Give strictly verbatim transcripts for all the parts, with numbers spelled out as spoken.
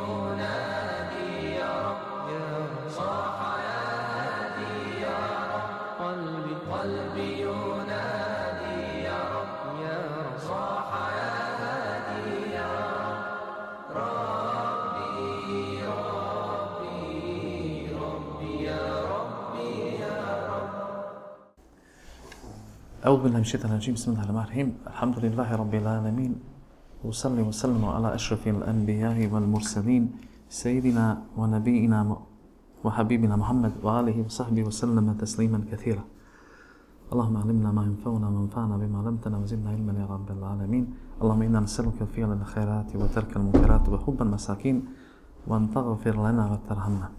ينادي يا رب صاح يا هادي يا رب قلبي قلبي ينادي يا رب يا رب صاح يا هادي يا رب ربي ربي ربي يا ربي يا رب. أعوذ بالله من الشيطان الرجيم. بسم الله الرحمن الرحيم. الحمد لله رب العالمين، وصلي وسلم على أشرف الأنبياء والمرسلين سيدنا ونبينا وحبيبنا محمد وآله وصحبه وسلم تسليما كثيرا. اللهم علمنا ما ينفعنا وانفعنا بما علمتنا وزدنا علما يا رب العالمين. اللهم إنا نسألك فعل الخيرات وترك المنكرات وحب المساكين وأن تغفر لنا وترحمنا.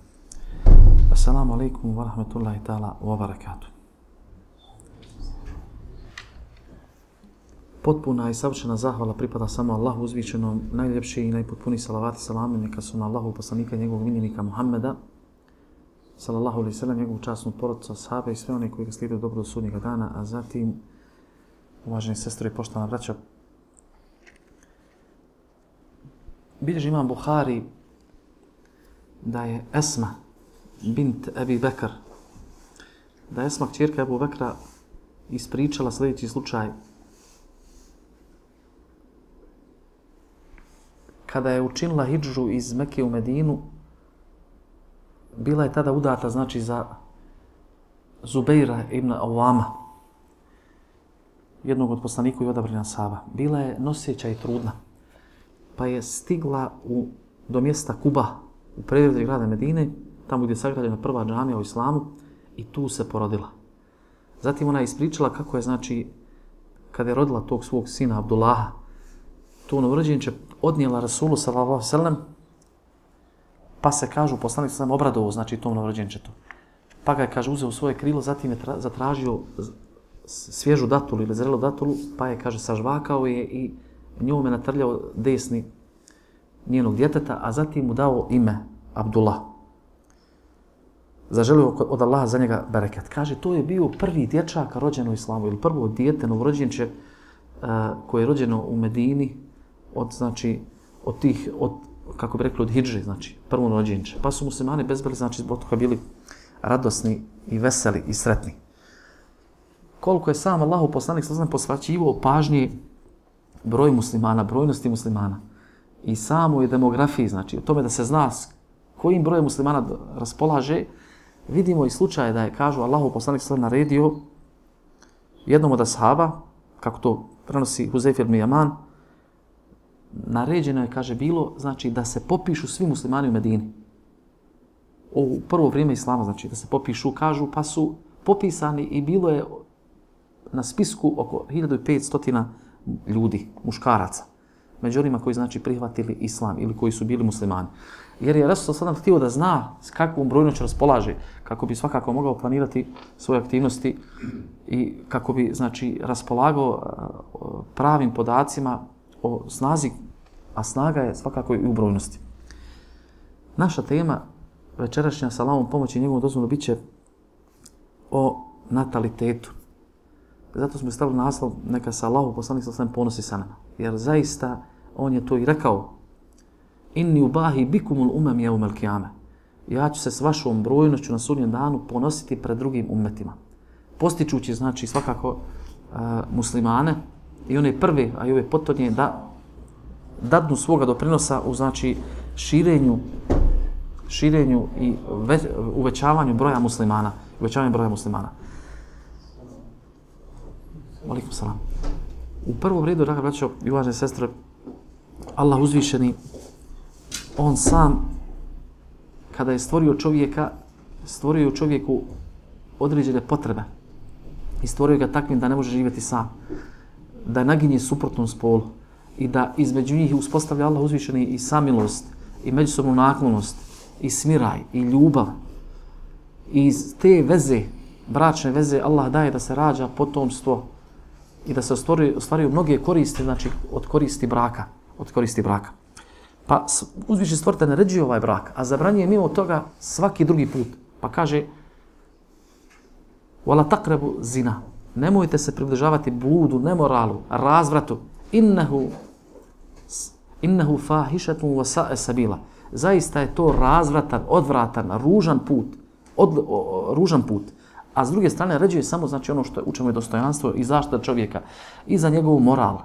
السلام عليكم ورحمة الله تعالى وبركاته. Potpuna i savršena zahvala pripada samo Allahu uzvišenom, najljepši i najpotpuniji salavati i salami neka su na Allahu poslanika i njegovog miljenika Muhammeda, sallallahu alejhi ve sellem, njegovu časnu porodicu, ashabe i sve one koji ga slijede dobro do sudnjega dana, a zatim, uvaženi sestre i poštovana braća, bilježi imam Buhari da je Esma bint Ebi Bekr, da je Esma kćerka Ebu Bekra ispričala sljedeći slučaj. Kada je učinila hidžu iz Mekke u Medinu, bila je tada udata, znači, za Zubeira ibn Awama, jednog od poslanika i odabrana ashaba. Bila je noseća i trudna, pa je stigla u, do mjesta Kuba, u predgrađe grada Medine, tamo gdje je sagrađena prva džamija u islamu, i tu se porodila. Zatim ona je ispričala kako je, znači, kada je rodila tog svog sina Abdullaha, to novorođenče odnijela Rasulu sallallahu alejhi ve sellem, pa se, kažu, poslanik sam obradovao, znači, tom novorođenčetu. Pa ga je, kaže, uzeo u svoje krilo, zatim je tra, zatražio svježu datulu ili zrelu datulu, pa je, kaže, sažvakao je i njome natrljao desni njenog djeteta, a zatim mu dao ime Abdullah. Zaželio od Allaha za njega bereket. Kaže, to je bio prvi dječak rođen u islamu, ili prvo dijete novorođenče uh, koje je rođeno u Medini, od, znači, od tih, od, kako bi rekli, od hidže, znači, prvo rođenče. Pa su muslimani bezbeli, znači, zbog toga bili radosni i veseli i sretni. Koliko je sam Allahu poslanik sallallahu alejhi ve sellem posvećivao pažnje broj muslimana, brojnosti muslimana i samoj demografiji, znači, o tome da se zna kojim brojem muslimana raspolaže, vidimo i slučaje da je, kažu, Allahu poslanik sallallahu alejhi ve sellem naredio jednom od ashaba, kako to prenosi Huzeyf ibn Yaman, naređeno je, kaže, bilo, znači, da se popišu svi muslimani u Medini. U prvo vrijeme islama, znači, da se popišu, kažu, pa su popisani i bilo je na spisku oko hiljadu petsto ljudi, muškaraca, među onima koji, znači, prihvatili islam ili koji su bili muslimani. Jer je Rasul sallallahu htio da zna s kakvom brojnoću raspolaže, kako bi svakako mogao planirati svoje aktivnosti i kako bi, znači, raspolagao pravim podacima o snazi, a snaga je svakako i u brojnosti. Naša tema večerašnja sa Allahovom pomoći i njegovom dozvolom bit će o natalitetu. Zato smo stavili naslov neka se Allahu poslanik sallallahu alejhi ve sellem ponosi sa nama. Jer zaista on je to i rekao: Inni ubahi bikumul umam yawm al-qiyamah. Ja ću se s vašom brojnošću na sudnjem danu ponositi pred drugim ummetima. Postičući, znači, svakako uh, muslimane i one prve, a i ove potonje, da dadnu svoga doprinosa u, znači, širenju, širenju i ve, uvećavanju broja muslimana, uvećavanju broja muslimana. Alejkum selam. U prvom redu, draga braćo i uvažene sestre, Allah uzvišeni, on sam, kada je stvorio čovjeka, stvorio čovjeku određene potrebe i stvorio ga takvim da ne može živjeti sam, da naginje suprotnom spolu i da između njih uspostavlja Allah uzvišeni i samilost, i međusobnu naklonost, i smiraj, i ljubav. I iz te veze, bračne veze, Allah daje da se rađa potomstvo i da se ostvaruju, ostvaruju mnoge koristi, znači od koristi braka, od koristi braka. Pa uzvišeni stvoritelj naređuje ovaj brak, a zabranjuje mimo toga svaki drugi put. Pa kaže: "Wala taqrabu zina." Nemojte se približavati bludu, nemoralu, razvratu. Innahu innahu fahishatun wa sa'a sabila. zaista je to razvratan, odvratan, ružan put, od, o, ružan put. A s druge strane naređuje samo znači ono što je, u čemu je dostojanstvo i zaštita čovjeka i za njegov moral,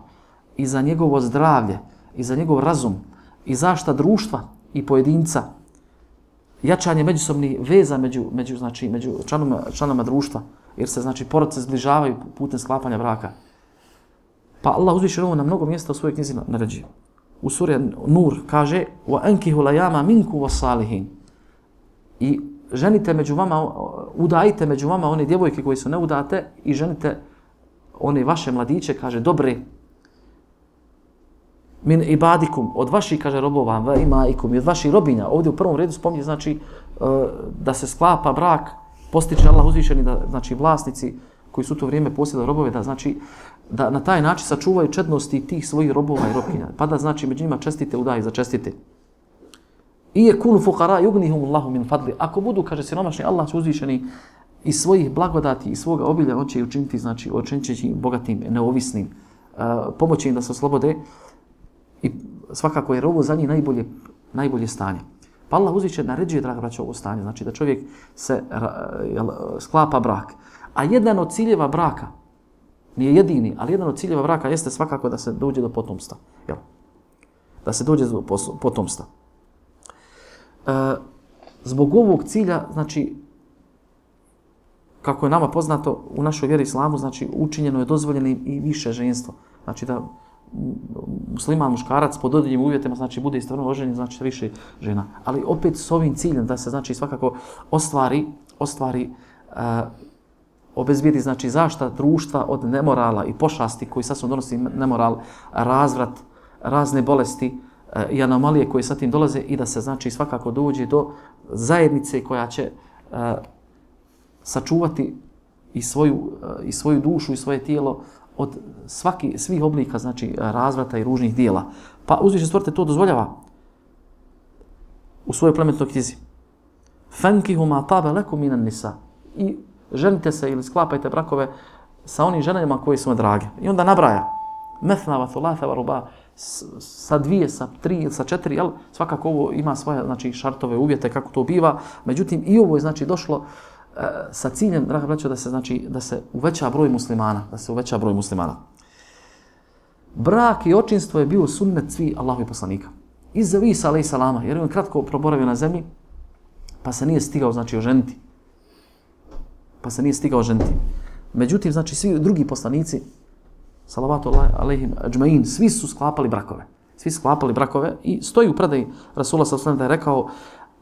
i za njegovo zdravlje, i za njegov razum, i zaštita društva i pojedinca, jačanje međusobnih veza među, među, znači, među članoma, članoma društva, jer se znači porodice zbližavaju putem sklapanja braka. Pa Allah uzvišen ovo na mnogo mjesta u svojoj knjizi naređuje. U suri Nur kaže وَأَنْكِهُ لَيَامَ مِنْكُ وَصَالِهِينَ i ženite među vama, udajite među vama one djevojke koje su neudate i ženite one vaše mladiće, kaže, dobre, min ibadikum, od vaših, kaže, robova, va imaikum, i od vaših robinja. Ovdje u prvom redu spominje, znači, da se sklapa brak, postiče Allah uzvišeni, da, znači, vlasnici koji su u to vrijeme posjedali robove, da, znači, da na taj način sačuvaju čednosti tih svojih robova i robkinja. Pa da, znači, među njima čestite udaje za čestite. I je kunu fukara yugnihum Allahu min fadli. Ako budu, kaže, siromašni, Allah će uzvišeni iz svojih blagodati i svoga obilja, on će učiniti, znači, učinit će bogatim, neovisnim, uh, pomoći im da se oslobode i svakako je ovo za njih najbolje, najbolje stanje. Pa Allah uzviše naređuje, draga braćo, ovo stanje, znači da čovjek se jel, sklapa brak. A jedan od ciljeva braka, nije jedini, ali jedan od ciljeva braka jeste svakako da se dođe do potomstva. Jel? Da se dođe do potomstva. E, zbog ovog cilja, znači, kako je nama poznato u našoj vjeri islamu, znači učinjeno je dozvoljeno i više ženstvo. Znači da musliman muškarac pod određenim uvjetima znači bude istovremeno oženjen, znači više žena. Ali opet s ovim ciljem da se znači svakako ostvari, ostvari uh, obezbijedi znači zaštita društva od nemorala i pošasti koji sasvim donosi nemoral, razvrat, razne bolesti uh, i anomalije koje sa tim dolaze i da se znači svakako dođe do zajednice koja će uh, sačuvati i svoju, uh, i svoju dušu i svoje tijelo od svaki, svih oblika, znači, razvrata i ružnih dijela. Pa uzvišen stvoritelj to dozvoljava u svojoj plemenitoj knjizi. Fankihu ma tabe lekum minan nisa. I ženite se ili sklapajte brakove sa onim ženama koji su vam drage. I onda nabraja. Methna wa thulatha wa ruba. Sa dvije, sa tri, sa četiri, jel? Svakako ovo ima svoje, znači, šartove, uvjete kako to biva. Međutim, i ovo je, znači, došlo sa ciljem, draga braćo, da se znači da se uveća broj muslimana, da se uveća broj muslimana. Brak i očinstvo je bio sunnet svi Allahovih poslanika. Iza Isa alejhi salama, jer je on kratko proboravio na zemlji, pa se nije stigao znači oženiti. Pa se nije stigao oženiti. Međutim, znači svi drugi poslanici, salavatu alejhim adžmain, svi su sklapali brakove. Svi su sklapali brakove i stoji u predaji Rasula sallallahu alejhi ve sellem da je rekao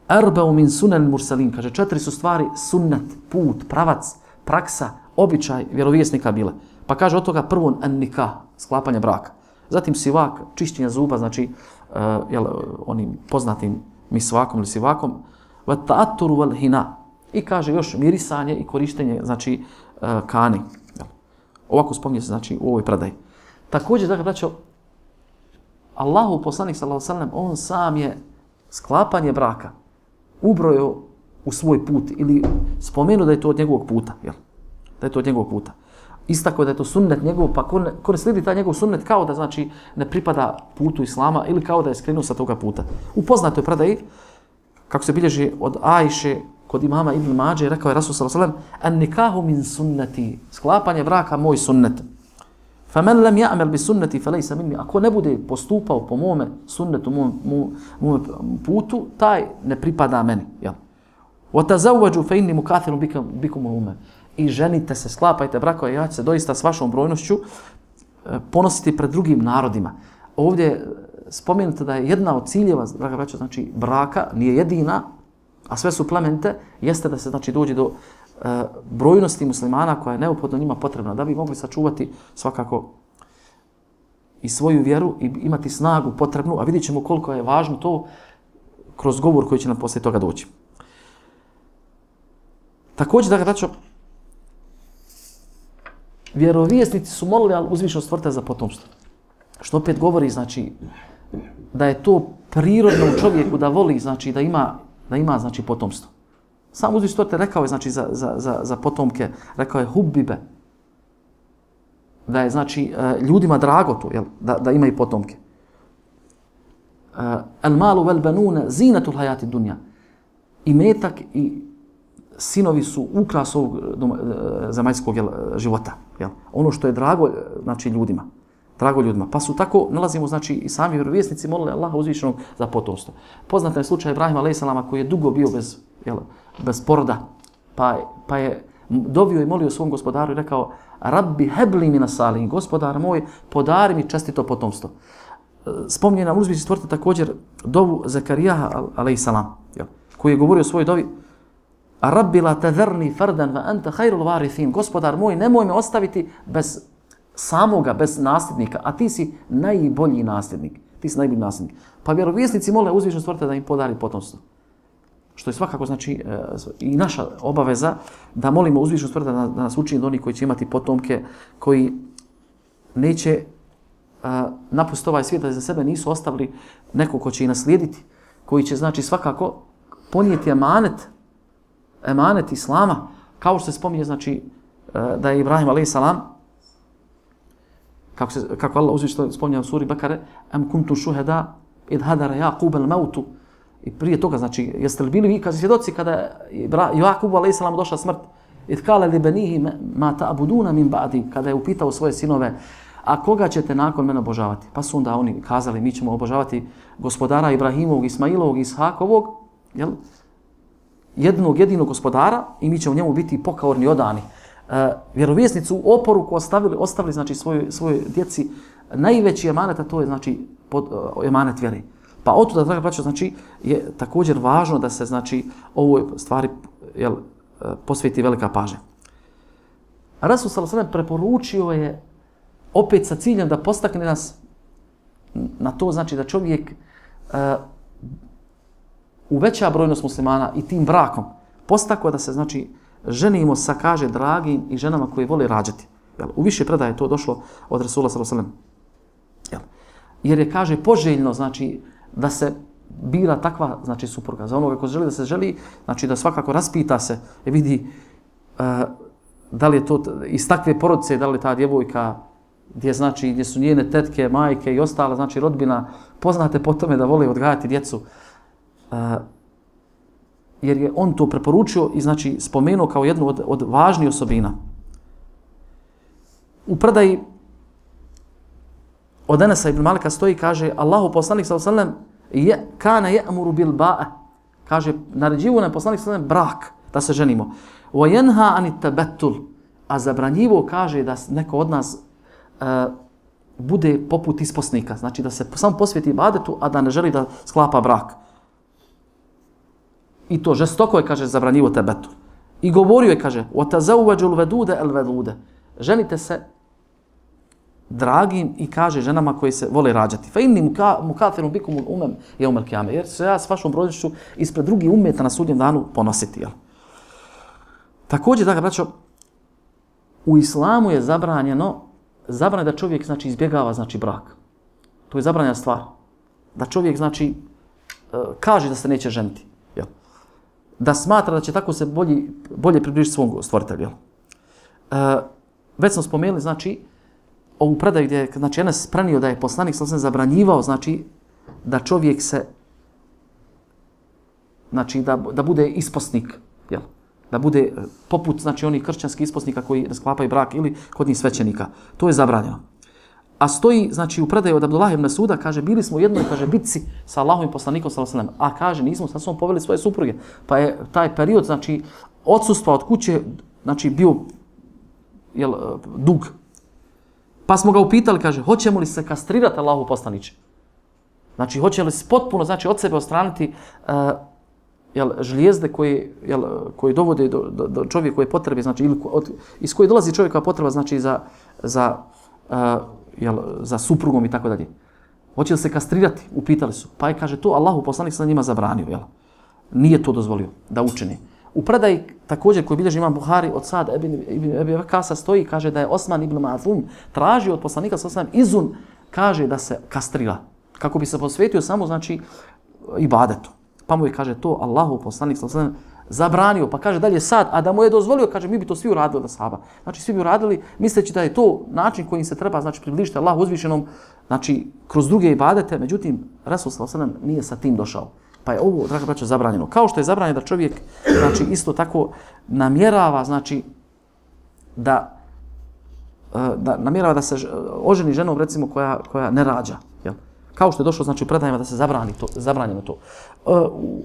Arba'u min sunan mursalin, kaže, četiri su stvari sunnet, put, pravac, praksa, običaj vjerovjesnika bile. Pa kaže od toga prvo an-nikah, sklapanje braka. Zatim sivak, čišćenje zuba, znači uh, jel, onim poznatim misvakom ili sivakom, wa ta'atturu wal hina. I kaže još mirisanje i korištenje, znači uh, kani. Jel. Ovako spominje se, znači, u ovoj predaji. Također, dakle, braćo, Allahu poslanik sallallahu alejhi ve sellem, on sam je sklapanje braka ubrojio u svoj put ili spomenuo da je to od njegovog puta, jel? Da je to od njegovog puta. Istako da je to sunnet njegov, pa ko ne, ko ne slijedi taj njegov sunnet kao da znači ne pripada putu islama ili kao da je skrenuo sa toga puta. U poznatoj predaji, kako se bilježi od Ajše kod imama Ibn Mađe, rekao je Rasul sallallahu alejhi ve sellem: "An-nikahu min sunnati", sklapanje braka moj sunnet. فَمَنْ لَمْ يَعْمَلْ بِسُنَّتِ فَلَيْسَ مِنِّي. Ako ne bude postupao po mome sunnetu, mom, mom, mom putu, taj ne pripada meni. Jel? وَتَزَوَّجُوا فَإِنِّي مُكَاثِرٌ بِكُمُ الْأُمَّةَ. I ženite se, sklapajte brakove, ja ću se doista s vašom brojnošću ponositi pred drugim narodima. Ovdje je spomenuto da je jedna od ciljeva, draga braćo, znači braka, nije jedina, a sve su plemente, jeste da se znači dođe do e, brojnosti muslimana koja je neophodno njima potrebna, da bi mogli sačuvati svakako i svoju vjeru i imati snagu potrebnu, a vidjet ćemo koliko je važno to kroz govor koji će nam poslije toga doći. Također, da ga braćo, vjerovjesnici su molili al uzvišenog stvoritelja za potomstvo. Što opet govori, znači, da je to prirodno u čovjeku da voli, znači, da ima, da ima znači, potomstvo. Sam uzvišeni stvoritelj rekao je, znači, za, za, za, za potomke, rekao je hubbibe, da je, znači, ljudima drago to, jel, da, da imaju potomke. el malu vel banuna zinatul hayati dunya. I metak i sinovi su ukras ovog zemaljskog života. Jel? Ono što je drago, znači, ljudima. Drago ljudima. Pa su tako, nalazimo, znači, i sami vjerovjesnici molili Allaha uzvišenog za potomstvo. Poznat je slučaj Ibrahima alejhi selam koji je dugo bio bez, jel, bez poroda. Pa, pa je dovio i molio svom gospodaru i rekao: Rabbi hebli mina salihin, gospodar moj, podari mi čestito potomstvo. Spominje nam uzvišeni stvoritelj također dovu Zakarijaha alejhi selam, koji je govorio o svojoj dovi: A Rabbi la tadharni fardan wa anta khairul warithin. Gospodar moj, nemoj me ostaviti bez samoga, bez nasljednika, a ti si najbolji nasljednik. Ti si najbolji nasljednik. Pa vjerovjesnici mole uzvišenog stvoritelja da im podari potomstvo. Što je svakako, znači, i naša obaveza da molimo uzvišenog stvoritelja da nas učini od onih koji će imati potomke, koji neće napustiti ovaj svijet, da za sebe nisu ostavili neko ko će ih naslijediti, koji će, znači, svakako ponijeti emanet, emanet Islama, kao što se spominje, znači, da je Ibrahim alejhi selam, kako se kako Allah uzvišeno spominje u suri Bekare, am kuntum shuhada id hadara Yaqub al-maut. I prije toga, znači, jeste li bili vi kad svjedoci kada je Jakub alejhi selam došla smrt? Id kala li banihi ma ta'buduna min ba'di, kada je upitao svoje sinove: A koga ćete nakon mene obožavati? Pa su onda oni kazali: Mi ćemo obožavati gospodara Ibrahimovog, Ismailovog, Ishakovog, jel? Jednog jedinog gospodara, i mi ćemo njemu biti pokorni, odani. E, vjerovjesnicu u oporuku ostavili, ostavili, znači, svojoj svojoj djeci najveći emanet, a to je, znači, pod, uh, emanet vjere. Pa otuda, draga braćo, znači, je također važno da se, znači, ovoj stvari, jel, posveti velika pažnja. Rasul sallallahu alejhi ve sellem preporučio je opet sa ciljem da postakne nas na to, znači, da čovjek uh, uveća brojnost muslimana i tim brakom postakao da se, znači, ženimo sa, kaže, dragim i ženama koje vole rađati. Jel? U više predaje je to došlo od Rasula sallallahu alejhi ve sellem. Jer je, kaže, poželjno, znači, da se bira takva, znači, supruga. Za onoga ko želi da se želi, znači, da svakako raspita se i vidi uh, da li je to iz takve porodice, da li ta djevojka gdje, znači, gdje su njene tetke, majke i ostala, znači, rodbina poznate po tome da vole odgajati djecu. Uh, jer je on to preporučio i, znači, spomenuo kao jednu od, od važnijih osobina. U predaji od Enesa ibn Malika stoji, kaže, Allahu poslanik sallallahu alejhi ve sellem je kana ya'muru bil ba'a. Kaže, naređivao nam poslanik sallallahu alejhi ve sellem brak, da se ženimo. Wa yanha anit tabattul. A zabranjivo, kaže, da neko od nas uh, bude poput isposnika, znači da se samo posveti ibadetu, a da ne želi da sklapa brak. I to žestoko je, kaže, zabranjivo tabattul. I govorio je, kaže, wa tazawwajul waduda al waduda. Ženite se dragim i, kaže, ženama koji se vole rađati. Fa inni mukafirun bikum umam yawm al-qiyamah. Jer se ja s vašom brojnošću ispred drugih ummeta na sudnjem danu ponositi, jel? Također, dakle, braćo, u islamu je zabranjeno, zabranjeno da čovjek, znači, izbjegava, znači, brak. To je zabranjena stvar. Da čovjek, znači, kaže da se neće ženiti, jel? Da smatra da će tako se bolje, bolje približiti svom stvoritelju, jel? E, već smo spomenuli, znači, ovu predaju gdje je, znači, Enes prenio da je poslanik sallallahu alejhi ve sellem zabranjivao, znači, da čovjek se, znači, da, da bude isposnik, jel? Da bude poput, znači, onih kršćanskih isposnika koji sklapaju brak ili kod njih svećenika. To je zabranjeno. A stoji, znači, u predaju od Abdullah ibn Suda, kaže, bili smo u jednoj, kaže, bitci sa Allahovim poslanikom sallallahu alejhi ve sellem, a, kaže, nismo sa sobom poveli svoje supruge. Pa je taj period, znači, odsustva od kuće, znači, bio, jel, dug. Pa smo ga upitali, kaže, hoćemo li se kastrirati Allahu poslaniče? Znači, hoće li se potpuno, znači, od sebe ostraniti uh, jel, žlijezde koje, jel, koje dovode do, do, do čovjeka koje potrebe, znači, ili od, iz koje dolazi čovjeka potreba, znači, za, za, uh, jel, za suprugom i tako dalje. Hoće li se kastrirati? Upitali su. Pa je, kaže, to Allahu poslanik sa njima zabranio, jel? Nije to dozvolio da učini. U predaji također koji bilježi imam Buhari od Sad ibn Abi Vakasa stoji, kaže da je Osman ibn Mazum tražio od poslanika sallallahu alejhi ve sellem izun, kaže, da se kastrira, kako bi se posvetio samo, znači, ibadetu. Pa mu je, kaže, to Allahu poslanik sallallahu alejhi ve sellem zabranio, pa kaže dalje sad, a da mu je dozvolio, kaže mi bi to svi uradili od ashaba. Znači svi bi uradili misleći da je to način kojim se treba znači približiti Allahu uzvišenom, znači kroz druge ibadete, međutim Resul sallallahu alejhi ve sellem nije sa tim došao. Pa je ovo, draga braćo, zabranjeno. Kao što je zabranjeno da čovjek znači isto tako namjerava znači da da namjerava da se oženi ženom recimo koja koja ne rađa, jel? Kao što je došlo znači u predajama da se zabrani to, zabranjeno to.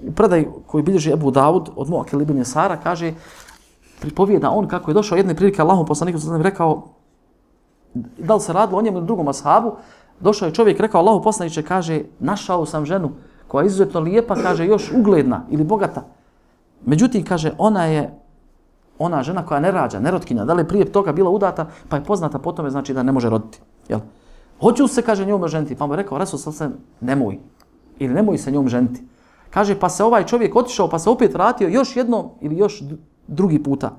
U predaji koji bilježi Ebu Davud od Muakil ibn Jesara kaže, pripovijeda on kako je došao jedne prilike Allahom poslaniku sallallahu alejhi ve sellem rekao, da li se radilo o njemu ili drugom ashabu, došao je čovjek rekao Allahu poslaniče, kaže našao sam ženu koja je izuzetno lijepa, kaže još ugledna ili bogata. Međutim kaže ona je ona žena koja ne rađa, nerotkinja, da li je prije toga bila udata, pa je poznata po tome znači da ne može roditi, jel? Hoću se, kaže, njome ženiti. Pa mu je rekao, Resul sallallahu alejhi ve sellem, nemoj. Ili nemoj se njom ženiti. Kaže, pa se ovaj čovjek otišao, pa se opet vratio još jednom ili još drugi puta.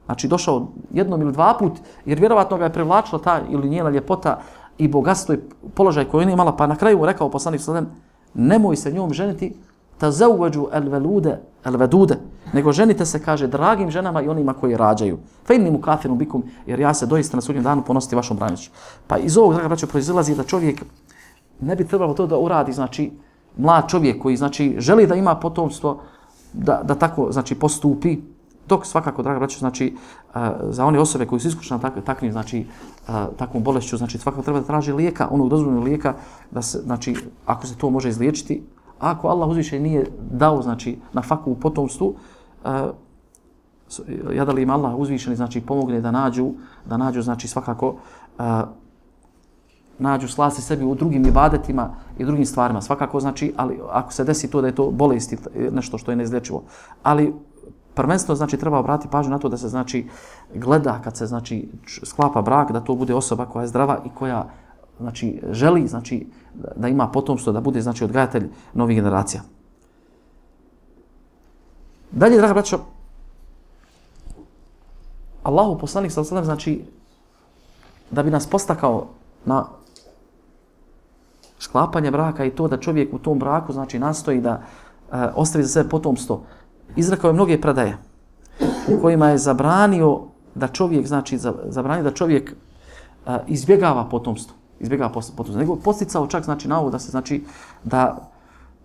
Znači, došao jednom ili dva put, jer vjerovatno ga je privlačila ta ili njena ljepota i bogatstvo i položaj koji ona imala. Pa na kraju mu rekao poslanik sallallahu alejhi ve sellem, nemoj se njom ženiti, tazawwaju al-walude al-wadude, nego ženite se, kaže, dragim ženama i onima koji rađaju. Fa inni mukafirun bikum, jer ja se doista na sudnjem danu ponositi vašom branicu. Pa iz ovog, draga braćo, proizilazi da čovjek ne bi trebalo to da uradi, znači mlad čovjek koji znači želi da ima potomstvo, da, da tako znači postupi, dok svakako, draga braćo, znači uh, za one osobe koji su iskušane tak, takvim znači uh, takvom bolešću, znači svakako treba da traži lijeka, onog dozvoljenog lijeka, da se znači ako se to može izliječiti. Ako Allah uzvišeni nije dao znači na faku u potomstvu, uh, ja da li im Allah uzvišeni znači pomogne da nađu, da nađu znači svakako uh, nađu slasi sebi u drugim ibadetima i drugim stvarima. Svakako znači, ali ako se desi to da je to bolest nešto što je neizlječivo. Ali prvenstveno znači treba obratiti pažnju na to da se znači gleda kad se znači sklapa brak, da to bude osoba koja je zdrava i koja znači želi znači da ima potomstvo, da bude znači odgajatelj novih generacija. Dalje, draga braćo, Allahu poslanik sallallahu alejhi ve sellem znači da bi nas postakao na sklapanje braka i to da čovjek u tom braku znači nastoji da uh, ostavi za sebe potomstvo. Izrekao je mnoge predaje u kojima je zabranio da čovjek znači zabranio da čovjek uh, izbjegava potomstvo. Izbjegava potomstvo. Nego posticao čak znači na ovo da se znači da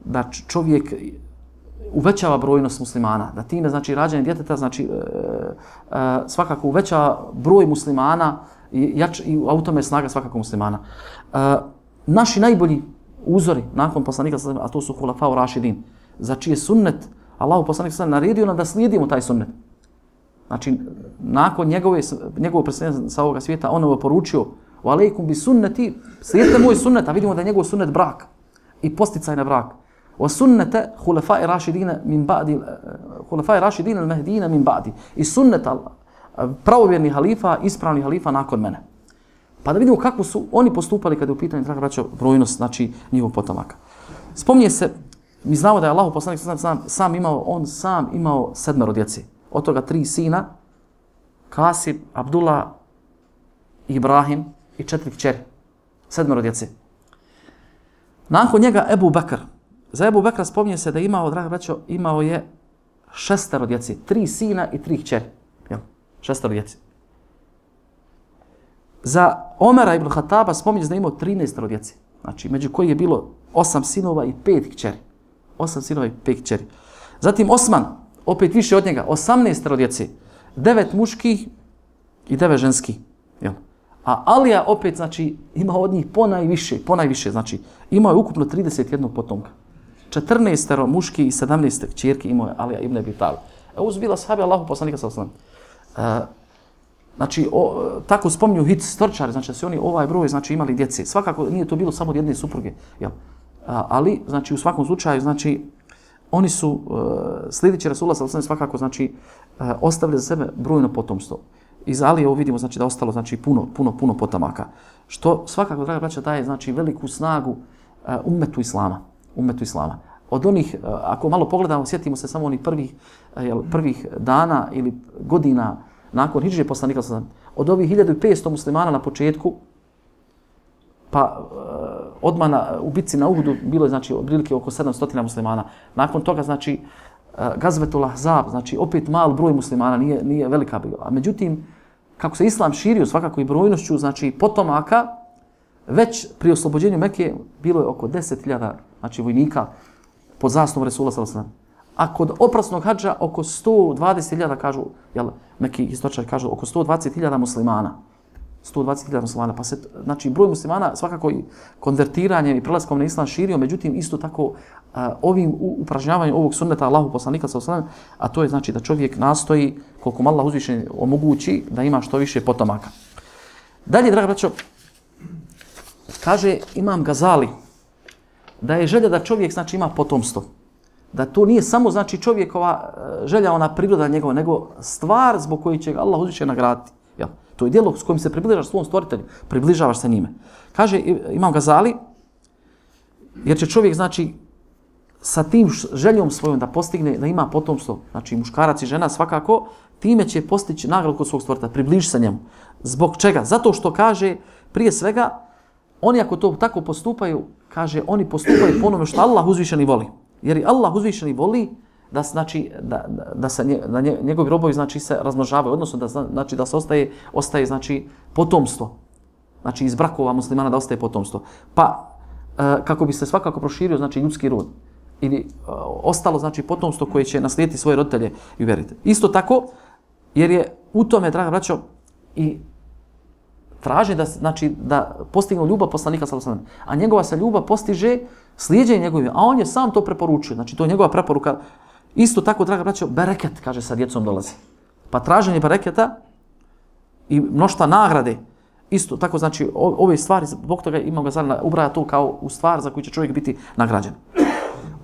da čovjek uvećava brojnost muslimana, da time znači rađanje djeteta znači uh, uh, svakako uvećava broj muslimana i jač i u tome snaga svakako muslimana. Uh, naši najbolji uzori nakon poslanika, a to su hulafau rašidin, za čije sunnet Allahu poslanik sallallahu alejhi ve sellem naredio nam da slijedimo taj sunnet. Znači, nakon njegove, njegovog preseljenja sa ovoga svijeta, on je poručio wa alejkum bi sunnati, slijedite moj sunnet, a vidimo da je njegov sunnet brak i posticaj na brak. Wa sunnata hulafai rašidina min ba'di, hulafai rašidina al-mahdina min ba'di. I sunnet pravovjernih halifa, ispravnih halifa nakon mene. Pa da vidimo kako su oni postupali kada je u pitanju, draga braćo, brojnost, znači njihovog potomaka. Spominje se, mi znamo da je Allahu poslanik sam, sam imao, on sam imao sedmero djece. Od toga tri sina, Kasim, Abdullah, Ibrahim i četiri kćeri. Sedmero djece. Nakon njega Ebu Bekr. Za Ebu Bekra spominje se da je imao, draga braćo, imao je šestero djece. Tri sina i tri kćeri. Jel? Šestero djece. Za Omera ibn Khattaba spominje se da je imao trinaestero djece. Znači, među koji je bilo osam sinova i pet kćeri. Osam sinova i pet kćeri. Zatim Osman, opet više od njega, osamnaestero djece. Devet muških i devet ženskih. Jel? A Alija opet, znači, ima od njih ponajviše, ponajviše, znači, imao je ukupno trideset jedan potomka. četrnaestero muški i sedamnaest kćerki imao je Alija ibn Abi Talib. Ovo su bila sahabe Allahu poslanika sallallahu alejhi ve sellem. Znači, o, tako spominju hit storčari, znači da su oni ovaj broj znači imali djece. Svakako nije to bilo samo od jedne supruge, jel? A, ali, znači, u svakom slučaju, znači, oni su, uh, sljedeći Rasulullah sallallahu alejhi ve sellem svakako, znači, uh, ostavili za sebe brojno potomstvo. Iz Alije ovo vidimo, znači, da ostalo, znači, puno, puno, puno potomaka. Što svakako, draga braća, daje, znači, veliku snagu uh, ummetu Islama. Ummetu Islama. Od onih, uh, ako malo pogledamo, sjetimo se samo onih prvih, uh, jel, prvih dana ili godina nakon hidžre poslanika sallallahu alejhi ve sellem, od ovih hiljadu petsto muslimana na početku, pa uh, odmah na, u bitci na Uhudu bilo je znači otprilike oko sedamsto muslimana. Nakon toga znači uh, Gazvetul Ahzab, znači opet mal broj muslimana, nije, nije velika bila. A međutim, kako se islam širio svakako i brojnošću, znači potomaka, već pri oslobođenju Mekke bilo je oko deset hiljada znači, vojnika pod zastavom Resula sallallahu alejhi ve sellem. A kod oprasnog hadža oko sto dvadeset hiljada kažu, jel, neki historičari kažu oko sto dvadeset hiljada muslimana. sto dvadeset hiljada muslimana, pa se, znači broj muslimana svakako i konvertiranjem i prelaskom na islam širio, međutim isto tako uh, ovim upražnjavanjem ovog sunneta Allahu poslanika sallallahu alejhi ve sellem, a to je znači da čovjek nastoji koliko mu Allah uzvišeni omogući da ima što više potomaka. Dalje, draga braćo, kaže Imam Gazali da je želja da čovjek znači ima potomstvo. Da to nije samo znači čovjekova želja, ona priroda njegova, nego stvar zbog koje će ga Allah uzvišeni nagraditi. Jel? To je djelo s kojim se približaš svom stvoritelju, približavaš se njime. Kaže Imam Gazali, jer će čovjek znači sa tim željom svojom da postigne, da ima potomstvo, znači muškarac i žena svakako, time će postići nagradu kod svog stvoritelja, približi se njemu. Zbog čega? Zato što kaže, prije svega, oni ako to tako postupaju, kaže, oni postupaju po onome što Allah uzvišeni voli. Jer i Allah uzvišeni voli da znači da, da, da se nje, da njegovi robovi znači se razmnožavaju, odnosno da znači da se ostaje ostaje znači potomstvo. Znači iz brakova muslimana da ostaje potomstvo. Pa e, kako bi se svakako proširio znači ljudski rod ili e, ostalo znači potomstvo koje će naslijediti svoje roditelje i vjerite. Isto tako jer je u tome, draga braćo, i traži da znači da postignu ljubav poslanika sallallahu alejhi ve sellem, a njegova se ljubav postiže slijeđenjem njegovim, a on je sam to preporučio. Znači to je njegova preporuka. Isto tako, draga braćo, bereket, kaže, sa djecom dolazi. Pa traženje bereketa i mnoštva nagrade, isto tako, znači, ove stvari, zbog toga Imam Gazali ubraja to kao u stvar za koju će čovjek biti nagrađen.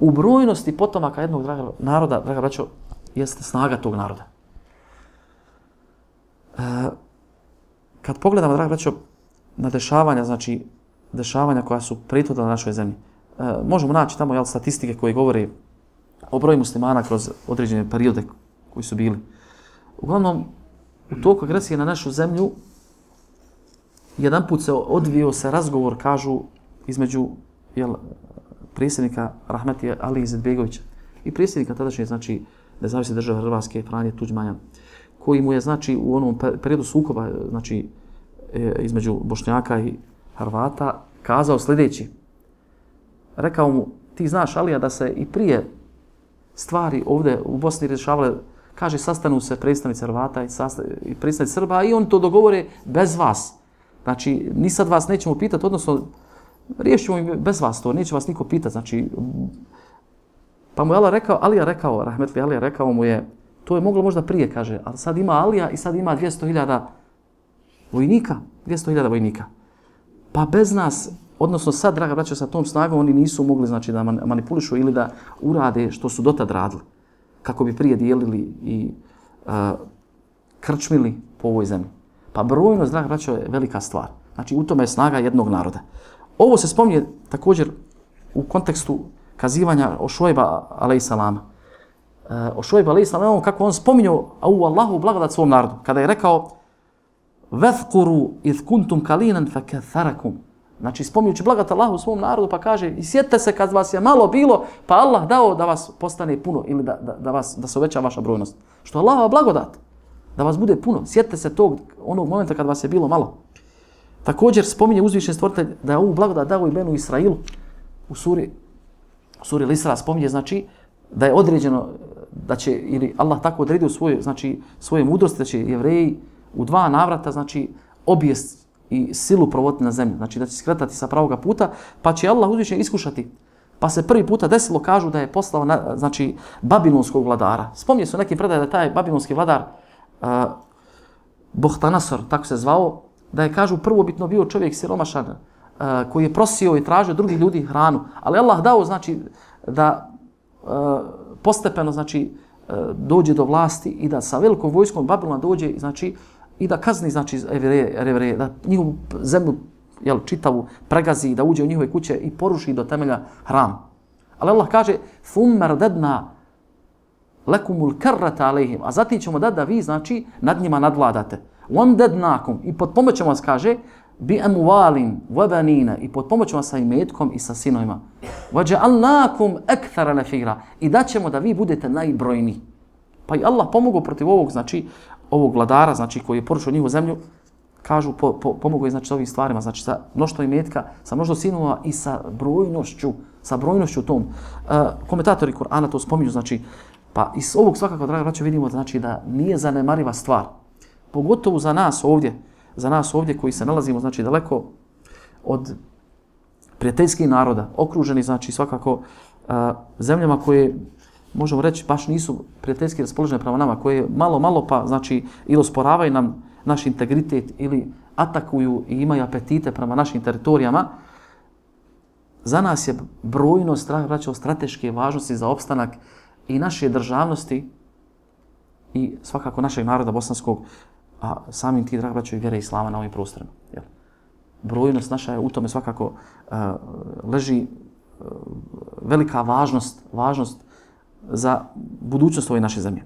U brojnosti potomaka jednog draga, naroda, draga braćo, jeste snaga tog naroda. E, kad pogledamo, draga braćo, na dešavanja, znači, dešavanja koja su prethodila na našoj zemlji, e, možemo naći tamo jel, statistike koje govore o broju muslimana kroz određene periode koji su bili. Uglavnom, u toku agresije na našu zemlju, jedan put se odvio se razgovor, kažu, između jel, predsjednika Rahmetli Ali Izetbegovića i predsjednika tadašnje, znači, nezavisne države Hrvatske, Franje Tuđmana, koji mu je, znači, u onom periodu sukoba, znači, između Bošnjaka i Hrvata, kazao sljedeći. Rekao mu, ti znaš, Alija, da se i prije stvari ovdje u Bosni rješavale, kaže, sastanu se predstavnici Hrvata i, i predstavnici Srba i oni to dogovore bez vas. Znači, ni sad vas nećemo pitati, odnosno, riješimo im bez vas to, neće vas niko pitati. Znači, pa mu je Alija rekao, Alija rekao, Rahmetli Alija rekao mu je, to je moglo možda prije, kaže, ali sad ima Alija i sad ima dvjesto hiljada vojnika, dvjesto hiljada vojnika. Pa bez nas, odnosno sad, draga braćo, sa tom snagom oni nisu mogli znači, da manipulišu ili da urade što su dotad radili. Kako bi prije dijelili i uh, krčmili po ovoj zemlji. Pa brojnost, draga braćo, je velika stvar. Znači, u tome je snaga jednog naroda. Ovo se spominje također u kontekstu kazivanja o Šuajba alejselama. Uh, o Šuajba alejselama, kako on spominjao u Allahu blagodat svom narodu. Kada je rekao vethkuru idh kuntum kalinan fakatharakum. Znači, spominjući blagodat Allahu svom narodu, pa kaže, i sjetite se kad vas je malo bilo, pa Allah dao da vas postane puno ili da, da, da, vas, da se uveća vaša brojnost. Što je Allahova blagodat, da vas bude puno. Sjetite se tog, onog momenta kad vas je bilo malo. Također spominje uzvišen stvoritelj da je ovu blagodat dao i Benu Israilu. U suri, u suri Al-Isra spominje, znači, da je određeno, da će, ili Allah tako odredio svoje, znači, svoje mudrosti, da će Jevreji u dva navrata, znači, obijest i silu provoditi na zemlju, znači da će skretati sa pravoga puta, pa će Allah uzvišen iskušati. Pa se prvi puta desilo, kažu da je poslao na, znači, babilonskog vladara. Spominje se u nekim predajama da je taj babilonski vladar uh, Bohtanasor, tako se zvao, da je, kažu, prvobitno bio čovjek siromašan, uh, koji je prosio i tražio drugih ljudi hranu, ali Allah dao, znači, da uh, postepeno, znači, uh, dođe do vlasti i da sa velikom vojskom Babilona dođe, znači, i da kazni, znači, Jevreje, da njihovu zemlju, jel, čitavu pregazi, da uđe u njihove kuće i poruši do temelja hram. Ali Allah kaže, ثُمَّ رَدَدْنَا لَكُمُ الْكَرَّةَ عَلَيْهِمْ. A zatim ćemo dati da vi, znači, nad njima nadvladate. وَمْدَدْنَاكُمْ. I pod pomoćemo vas, kaže, bi amwalim wa banina i pod pomoću sa imetkom i sa sinovima. Waja'alnakum akthara nafira i daćemo da vi budete najbrojniji. Pa i Allah pomogao protiv ovog, znači ovog vladara, znači koji je porušio njihovu zemlju, kažu po, po, pomogao je znači sa ovim stvarima, znači sa mnoštvom imetka, sa mnoštvom sinova i sa brojnošću, sa brojnošću tom. Uh, komentatori Kur'ana to spominju, znači pa iz ovog svakako, draga braćo, vidimo znači da nije zanemariva stvar. Pogotovo za nas ovdje, za nas ovdje koji se nalazimo znači daleko od prijateljskih naroda, okruženi znači svakako uh, zemljama koje možemo reći baš nisu prijateljski raspoložene prema nama, koje malo malo pa znači ili osporavaju nam naš integritet ili atakuju i imaju apetite prema našim teritorijama. Za nas je brojnost, draga braćo, strateške važnosti za opstanak i naše državnosti i svakako našeg naroda bosanskog, a samim ti, draga braćo, i vjere islama na ovim prostorima. Jel? Brojnost naša je u tome svakako uh, leži uh, velika važnost, važnost za budućnost ove naše zemlje.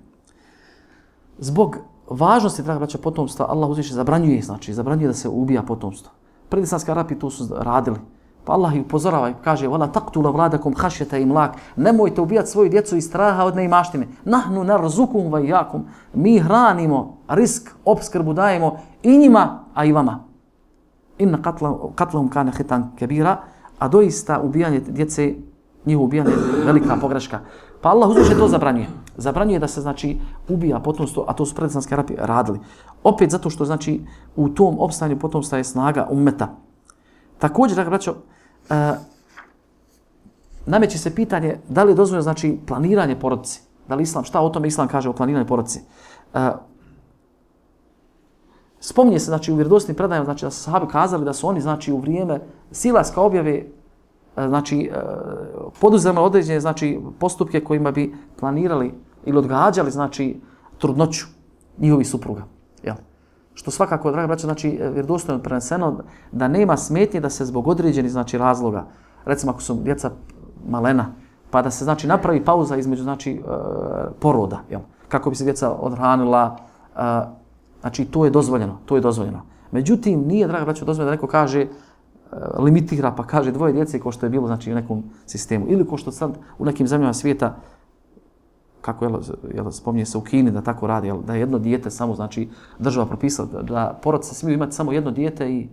Zbog važnosti, draga braćo, potomstva, Allah uzviše zabranjuje, znači zabranjuje da se ubija potomstvo. Predislamski Arapi to su radili. Pa Allah ih upozorava i kaže: "Wala taqtulu awladakum khashyata imlak." Nemojte ubijati svoju djecu iz straha od neimaštine. Nahnu narzukum wa iyyakum. Mi hranimo, risk, opskrbu dajemo i njima, a i vama. Inna qatlahum kana khitan kabira. A doista ubijanje djece, njihovo ubijanje je velika pogreška. Pa Allah uzviše to zabranjuje. Zabranjuje da se znači ubija potomstvo, a to su predislamski Arapi radili. Opet zato što znači u tom opstanju potomstva je snaga ummeta. Također, draga braćo, uh, nameće se pitanje da li je dozvoljeno znači planiranje porodice. Da li islam, šta o tome islam kaže o planiranju porodice? Uh, spominje se znači u vjerodostojnim predajama znači da su sahabi kazali da su oni znači u vrijeme silaska objave znači poduzeli određene znači postupke kojima bi planirali ili odgađali znači trudnoću njihovih supruga. Jel? Što svakako, draga braćo, znači vjerodostojno preneseno da nema smetnje da se zbog određenih znači razloga, recimo ako su djeca malena, pa da se znači napravi pauza između znači poroda, jel? Kako bi se djeca odhranila, znači to je dozvoljeno, to je dozvoljeno. Međutim, nije, draga braćo, dozvoljeno da neko kaže limitira pa kaže dvoje djece kao što je bilo znači u nekom sistemu ili kao što sad u nekim zemljama svijeta, kako je, jel, spominje se u Kini da tako radi, jel, da je jedno dijete samo znači država propisala da, da porodice smiju imati samo jedno dijete i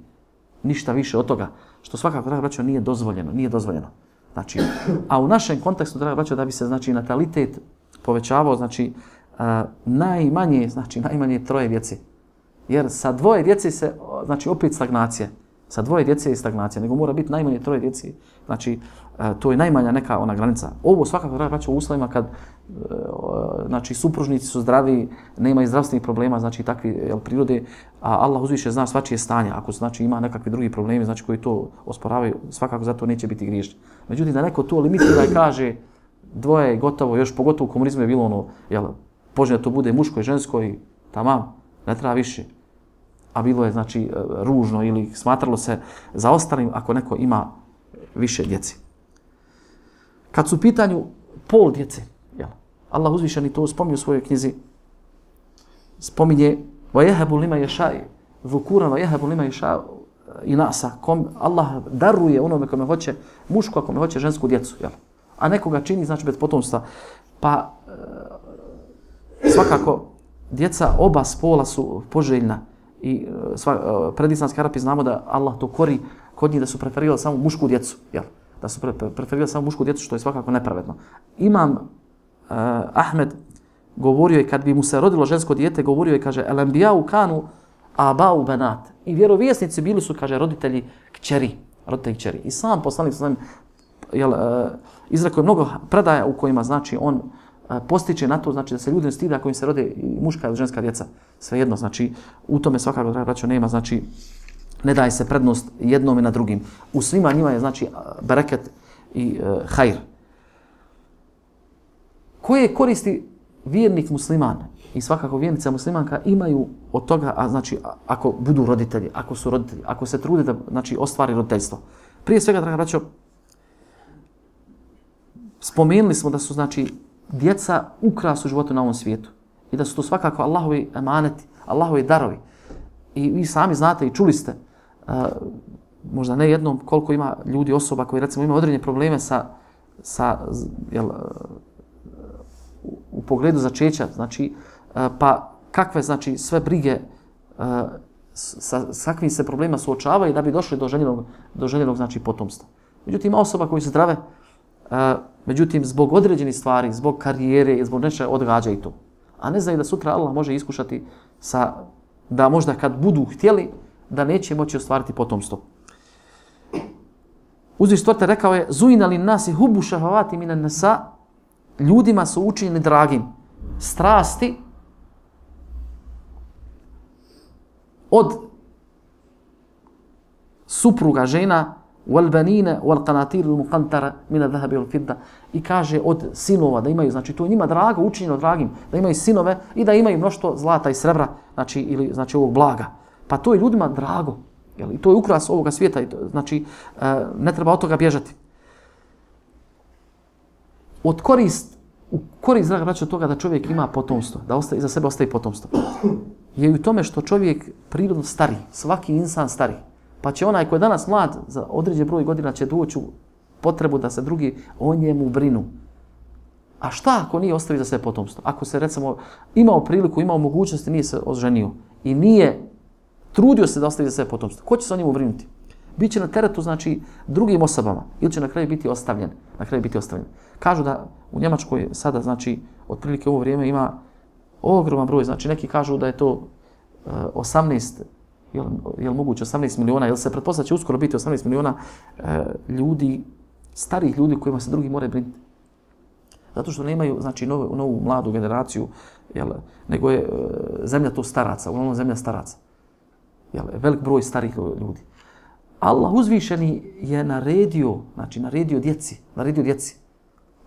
ništa više od toga, što svakako, draga braćo, nije dozvoljeno, nije dozvoljeno. Znači, a u našem kontekstu, draga braćo, da bi se znači natalitet povećavao, znači uh, najmanje, znači najmanje troje djece. Jer sa dvoje djece se znači opet stagnacija. Sa dvoje djece je stagnacija, nego mora biti najmanje troje djece. Znači, to je najmanja neka ona granica. Ovo svakako treba braći u uslovima kad znači, supružnici su zdravi, nemaju zdravstvenih problema, znači takvi jel, prirode, a Allah uzviše zna svačije stanje. Ako znači, ima nekakvi drugi problemi znači, koji to osporavaju, svakako zato neće biti griješni. Međutim, da neko to limitira i kaže dvoje je gotovo, još pogotovo u komunizmu je bilo ono, jel, poželjno to bude muško i žensko i tamam, ne treba više. A bilo je znači ružno ili smatralo se za ostalim ako neko ima više djece. Kad su u pitanju pol djece, jel, Allah uzvišeni to spominje u svojoj knjizi, spominje وَيَهَبُ لِمَا يَشَاءِ ذُكُورًا وَيَهَبُ لِمَا يَشَاءِ إِنَاسًا, kom Allah daruje onome kome hoće mušku, a kome hoće žensku djecu, jel? A nekoga čini znači bez potomstva. Pa svakako djeca oba spola su poželjna. I sva, predislamski Arapi znamo da Allah to kori kod njih da su preferirali samo mušku djecu, jel? Da su pre, preferirali samo mušku djecu, što je svakako nepravedno. Imam uh, Ahmed govorio je kad bi mu se rodilo žensko dijete, govorio je, kaže, el-anbijau kanu abau banat. I vjerovjesnici bili su, kaže, roditelji kćeri, roditelji kćeri. I sam poslanik sallallahu alejhi ve sellem izrekao je mnogo predaja u kojima znači on postiče na to, znači da se ljudi ne stide ako im se rode i muška ili ženska djeca. Svejedno, znači u tome svakako, draga braćo, nema, znači ne daje se prednost jednom i na drugim. U svima njima je, znači, bereket i uh, hajr. Koje koristi vjernik musliman i svakako vjernica muslimanka imaju od toga, a znači ako budu roditelji, ako su roditelji, ako se trude da znači ostvari roditeljstvo. Prije svega, draga braćo, spomenuli smo da su znači djeca ukras u životu na ovom svijetu i da su to svakako Allahovi emaneti, Allahovi darovi. I vi sami znate i čuli ste možda ne jednom, koliko ima ljudi, osoba koji recimo imaju određene probleme sa, sa jel, u, u pogledu začeća, znači, pa kakve znači sve brige sa, sa kakvim se problema suočavaju da bi došli do željenog, do željenog znači potomstva. Međutim, ima osoba koji su zdrave, međutim, zbog određenih stvari, zbog karijere, zbog nečega odgađaju to. A ne znaju da sutra Allah može iskušati sa, da možda kad budu htjeli, da neće moći ostvariti potomstvo. Uzviš stvoritelj rekao je: Zujna lin nasi hubu šahavati minan nisa, ljudima su učinjeni dragim strasti od supruga žena, wal banina wal qanatir al muqantara min al dhahab wal fidda, i kaže od sinova da imaju, znači to je njima drago, učinjeno dragim, da imaju sinove i da imaju mnoštvo zlata i srebra, znači ili znači ovog blaga. Pa to je ljudima drago. Jel? I to je ukras ovoga svijeta, znači ne treba od toga bježati. Od korist, u korist, draga braćo, toga da čovjek ima potomstvo, da ostaje, za sebe ostaje potomstvo, je u tome što čovjek prirodno stari, svaki insan stari. Pa će onaj koji je danas mlad, za određen broj godina će doći u potrebu da se drugi o njemu brinu. A šta ako nije ostavi za sebe potomstvo? Ako se recimo imao priliku, imao mogućnosti, nije se oženio i nije trudio se da ostavi za sebe potomstvo, ko će se o njemu brinuti? Biće na teretu, znači, drugim osobama, ili će na kraju biti ostavljen. Na kraju biti ostavljen. Kažu da u Njemačkoj sada, znači, otprilike u ovo vrijeme ima ogroman broj, znači neki kažu da je to uh, osamnaest, jel, jel moguće osamnaest miliona, jel se pretpostavlja će uskoro biti osamnaest miliona uh, ljudi, starih ljudi kojima se drugi moraju brinuti. Zato što nemaju, znači, novu, novu mladu generaciju, jel, nego je uh, zemlja to staraca, uglavnom zemlja staraca. Jel, velik broj starih ljudi. Allah uzvišeni je naredio, znači naredio djeci, naredio djeci,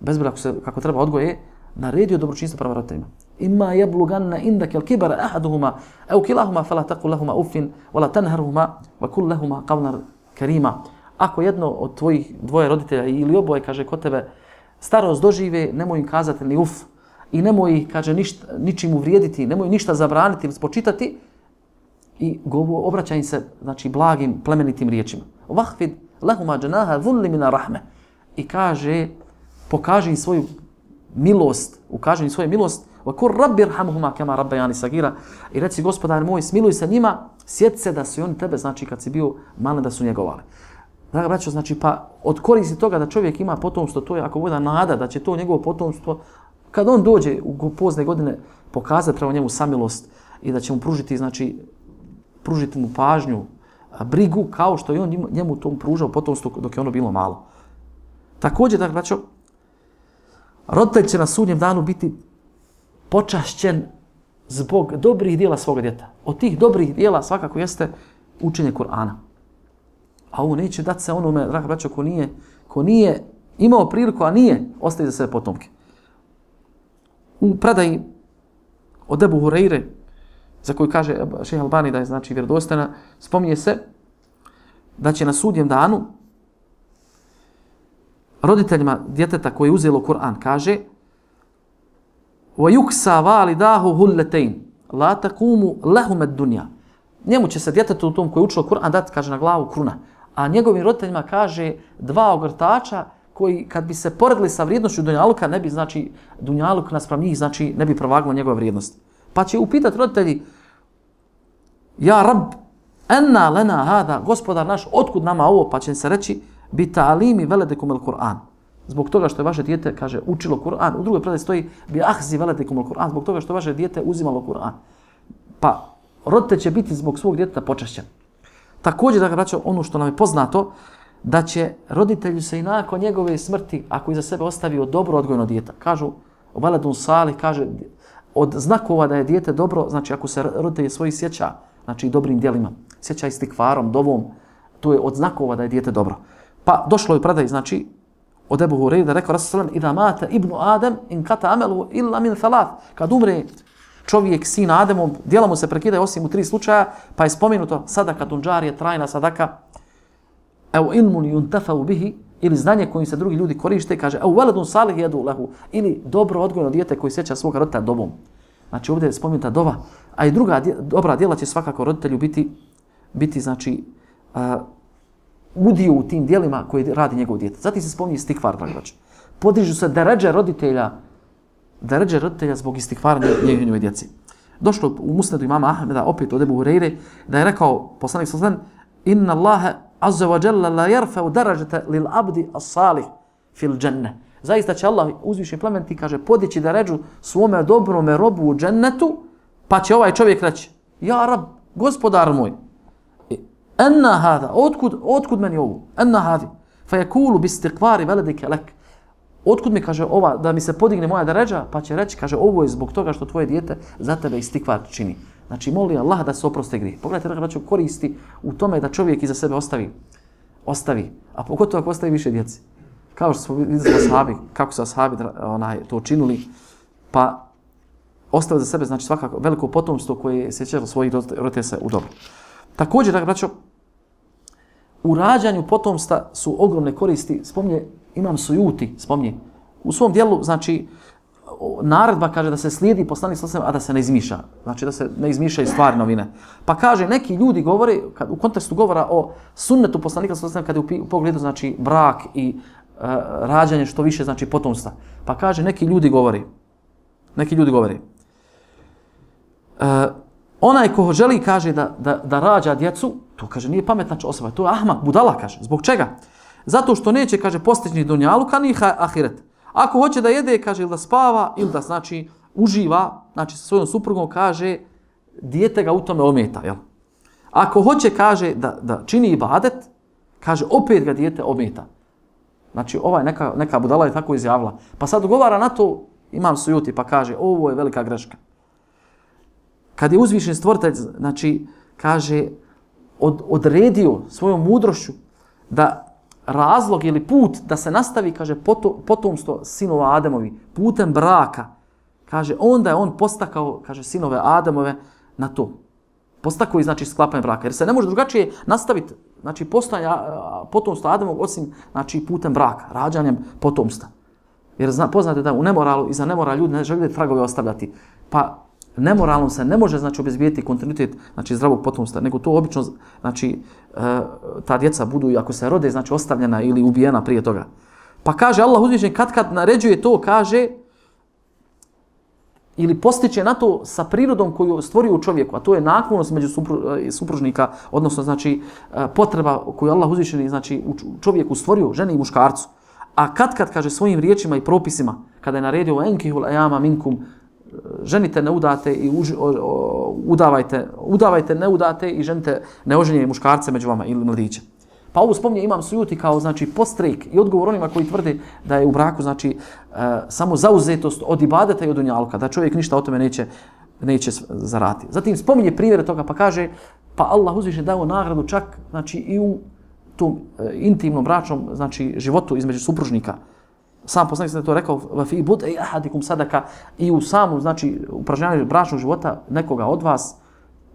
bez braka se kako treba odgoje, naredio dobročinstvo prema roditeljima. Imma yablughanna indaka al-kibara ahaduhuma aw kilahuma fala taqul lahumā uffin wa la tanharhumā wa qul lahumā qawlan karīmā. Ako jedno od tvojih dvoje roditelja ili oboje, kaže, kod tebe starost dožive, nemoj im kazati ni uf i nemoj, kaže, ništa, ničim uvrijediti, nemoj ništa zabraniti ili spočitati, i govo, obraća im se, znači, blagim, plemenitim riječima. Vahfid lahuma džanaha dhulli mina rahme. I kaže, pokaži im svoju milost, ukaži im svoju milost, wa kur rabbi irhamhuma kama rabbayani sagira. I reci, gospodar moj, smiluj se njima, sjeti se da su oni tebe, znači, kad si bio malen, da su njegovali. Draga braćo, znači, pa od koristi toga da čovjek ima potomstvo, to je ako bude nada da će to njegovo potomstvo, kad on dođe u pozne godine, pokazati prema njemu samilost i da će mu pružiti, znači, pružiti mu pažnju, brigu, kao što je on njemu tom pružao potomstvo dok je ono bilo malo. Također, dakle, braćo, roditelj će na sudnjem danu biti počašćen zbog dobrih dijela svoga djeta. Od tih dobrih dijela svakako jeste učenje Kur'ana. A ovo neće dati se onome, draga braćo, ko nije, ko nije imao priliku, a nije, ostaje za sebe potomke. U predaji od Ebu Hureyre, za koju kaže Šejh Albani da je, znači, vjerodostojna, spominje se da će na sudnjem danu roditeljima djeteta koje je uzelo Kur'an, kaže وَيُكْسَا وَالِدَاهُ هُلَّتَيْنِ لَا تَقُومُ لَهُمَ الدُّنْيَا. Njemu će se djetetu u tom koji je učilo Kur'an dati, kaže, na glavu kruna. A njegovim roditeljima, kaže, dva ogrtača koji kad bi se poredili sa vrijednošću dunjaluka, ne bi, znači, dunjaluk naspram njih, znači, ne bi provaglo njegova vrijednost. Pa će upitati roditelji: Ja Rab, enna lena hada, gospodar naš, otkud nama ovo? Pa će se reći: bi ta'alimi veledekum el Kur'an. Zbog toga što je vaše dijete, kaže, učilo Kur'an. U drugoj predaji stoji: bi ahzi veledekum el Kur'an. Zbog toga što je vaše dijete uzimalo Kur'an. Pa roditelj će biti zbog svog djeteta počašćen. Također, da ga braćo, ono što nam je poznato, da će roditelju se i nakon njegove smrti, ako iza sebe ostavio dobro odgojeno dijete, kažu veledun salih, kaže, od znakova da je dijete dobro, znači ako se roditelj svoji sjeća, znači dobrim djelima, sjeća istikvarom, dovom, to je od znakova da je dijete dobro. Pa došlo je predaj, znači, od Ebu Hureyre da rekao Rasul sallam: Ida mate ibnu Adem in kata amelu illa min thalath. Kad umre čovjek, sin Ademov, djela mu se prekidaju osim u tri slučaja, pa je spomenuto sadaka tunđarije, trajna sadaka, evo ilmun yuntafau bihi, ili znanje kojim se drugi ljudi koriste, kaže evo veledun salih jedu lehu, ili dobro odgojeno dijete koji sjeća svoga roditelja dobom. Znači ovdje je spomenuta dova, a i druga dobra djela će svakako roditelju biti, biti znači, uh, udio u tim dijelima koje radi njegov dijete. Zatim se spominje istikvar, dragi braćo. Podižu se deređe roditelja, deređe roditelja zbog istikvara njegove djece. Došlo u Musnedu imama Ahmeda, opet od Ebu Hureyre, da je rekao poslanik sallallahu alejhi ve sellem: Inna Allaha azza wa jalla la yarfa'u darajata lil abdi as-salih fil dženne. Zaista će Allah uzvišeni plemeniti, kaže, podići deređu svome dobrome robu u džennetu, pa će ovaj čovjek reći: Ja Rab, gospodar moj, enna hada, otkud, otkud meni ovo? Enna hadi, fa yakulu bi istiqvari veledike lek. Otkud mi, kaže, ova, da mi se podigne moja deređa, pa će reći, kaže, ovo je zbog toga što tvoje dijete za tebe istikvar čini. Znači, moli Allah da se oproste grije. Pogledajte, da će koristi u tome da čovjek iza sebe ostavi, ostavi, a pogotovo ako ostavi više djeci. Kao što smo vidjeli ashabi, kako su ashabi onaj, to činuli, pa ostavili za sebe, znači, svakako veliko potomstvo koje je sjećalo svojih roditelja u dobro. Također, da braćo, u rađanju potomstva su ogromne koristi. Spominje Imam Sujuti, spominje u svom dijelu, znači, naredba kaže da se slijedi poslanik sallallahu alejhi ve sellem, a da se ne izmišlja. Znači da se ne izmišljaju stvari novine. Pa kaže, neki ljudi govore, kad, u kontekstu govora o sunnetu poslanika sallallahu alejhi ve sellem, kada je u pogledu, znači, brak i uh, rađanje što više, znači, potomstva. Pa kaže, neki ljudi govore, neki ljudi govore, uh, onaj ko želi, kaže, da, da, da rađa djecu, to, kaže, nije pametna osoba, to je ahmak, budala, kaže. Zbog čega? Zato što neće, kaže, postići ni dunjaluka, ni ahiret. Ako hoće da jede, kaže, ili da spava, ili da, znači, uživa, znači, sa svojom suprugom, kaže, dijete ga u tome ometa, jel? Ako hoće, kaže, da, da čini ibadet, kaže, opet ga dijete ometa. Znači, ovaj neka, neka budala je tako izjavila. Pa sad govara na to, Imam Sujuti, pa kaže, ovo je velika greška. Kad je uzvišen stvoritelj, znači, kaže, od, odredio svojom mudrošću da razlog ili put da se nastavi, kaže, potomstvo sinova Ademovi, putem braka, kaže, onda je on postakao, kaže, sinove Ademove na to. Postakao i, znači, sklapanje braka. Jer se ne može drugačije nastaviti, znači, postojanje potomstva Ademovog osim, znači, putem braka, rađanjem potomstva. Jer zna, poznate da u nemoralu i za nemoral ljudi ne žele tragove ostavljati. Pa nemoralnom se ne može, znači, obezbijeti kontinuitet, znači, zdravog potomstva, nego to obično, znači, e, ta djeca budu, ako se rode, znači, ostavljena ili ubijena prije toga. Pa kaže Allah uzvišen, kad kad naređuje to, kaže, ili postiče na to sa prirodom koju stvorio u čovjeku, a to je naklonost među supru, supružnika, odnosno, znači, potreba koju Allah uzvišen, znači, u čovjeku stvorio, ženi i muškarcu. A kad kad, kaže, svojim riječima i propisima, kada je naredio enkihul ajama minkum, ženite ne udate i uži, o, o, udavajte, udavajte ne udate i ženite neoženjene muškarce među vama ili mladiće. Pa ovo spominje Imam Sujuti kao, znači, postrek i odgovor onima koji tvrde da je u braku, znači, e, samo zauzetost od ibadeta i od dunjaluka, da čovjek ništa o tome neće, neće zarati. Zatim spominje primjere toga, pa kaže, pa Allah uzviše dao nagradu čak, znači, i u tom e, intimnom bračnom, znači, životu između supružnika. Sam poslanik je to rekao, fi bud'i ahadikum sadaka, i u samu, znači, upražnjavanju bračnog života nekoga od vas,